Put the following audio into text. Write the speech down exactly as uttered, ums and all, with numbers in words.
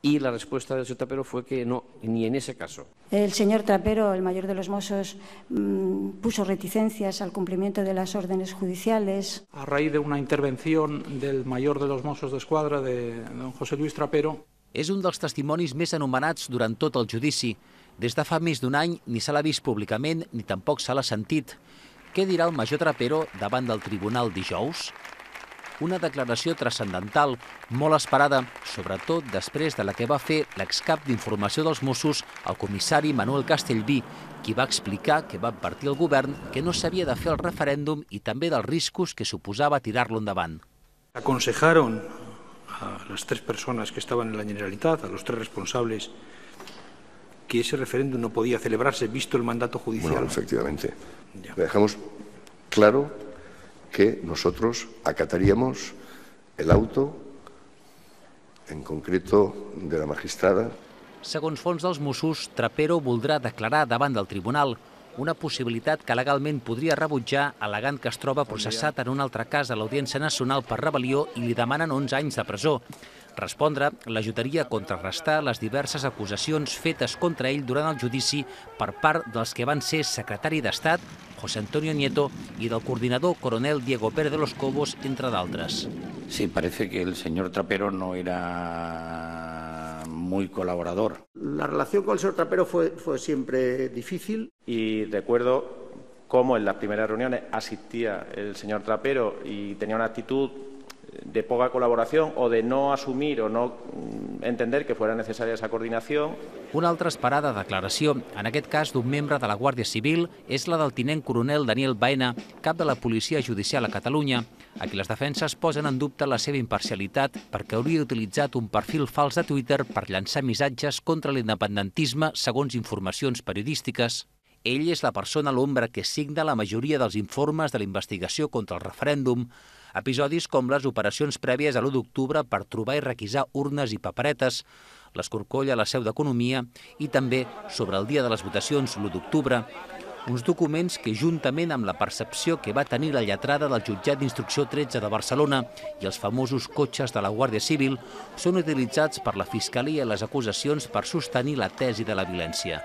y la respuesta del señor Trapero fue que no, ni en ese caso. El señor Trapero, el mayor de los Mossos, mmm, puso reticencias al cumplimiento de las órdenes judiciales. A raíz de una intervención del mayor de los Mossos d'Esquadra, de don José Luis Trapero. És un dels testimonis més anomenats durant tot el judici. Des de fa més d'un any ni se l'ha vist públicament ni tampoc se l'ha sentit. Què dirà el major Trapero davant del tribunal dijous? Una declaració transcendental, molt esperada, sobretot després de la que va fer l'excap d'informació dels Mossos, el comissari Manuel Castellví, qui va explicar que va advertir el govern que no s'havia de fer el referèndum i també dels riscos que suposava tirar-lo endavant. Aconsejaron a las tres personas que estaban en la Generalitat, a los tres responsables, que ese referéndum no podía celebrarse visto el mandato judicial. Bueno, efectivamente. Ya. Dejamos claro que nosotros acataríamos el auto, en concreto de la magistrada. Segons fons dels Mossos, Trapero voldrà declarar davant del tribunal, una possibilitat que legalment podria rebutjar al·legant que es troba processat en un altre cas a l'Audiència Nacional per rebel·lió i li demanen onze anys de presó. Respondre l'ajudaria a contrarrestar les diverses acusacions fetes contra ell durant el judici per part dels que van ser secretari d'Estat, José Antonio Nieto, y del coordinador coronel Diego Pérez de los Cobos, entre d'altres. Sí, parece que el señor Trapero no era muy colaborador. La relación con el señor Trapero fue, fue siempre difícil. Y recuerdo cómo en las primeras reuniones asistía el señor Trapero y tenía una actitud de poca col·laboració o de no assumir o no entender que fuera necessària aquesta coordinació. Una altra esperada declaració, en aquest cas d'un membre de la Guàrdia Civil, és la del tinent coronel Daniel Baena, cap de la Policia Judicial a Catalunya, a qui les defenses posen en dubte la seva imparcialitat perquè hauria utilitzat un perfil fals de Twitter per llançar missatges contra l'independentisme segons informacions periodístiques. Ell és la persona a l'ombra que signa la majoria dels informes de la investigació contra el referèndum, episodis com les operacions prèvies a l'u d'octubre per trobar i requisar urnes i paperetes, l'escorcoll a la seu d'Economia i també sobre el dia de les votacions, l'u d'octubre, uns documents que, juntament amb la percepció que va tenir la lletrada del jutjat d'instrucció tretze de Barcelona i els famosos cotxes de la Guàrdia Civil, són utilitzats per la Fiscalia i les acusacions per sostenir la tesi de la violència.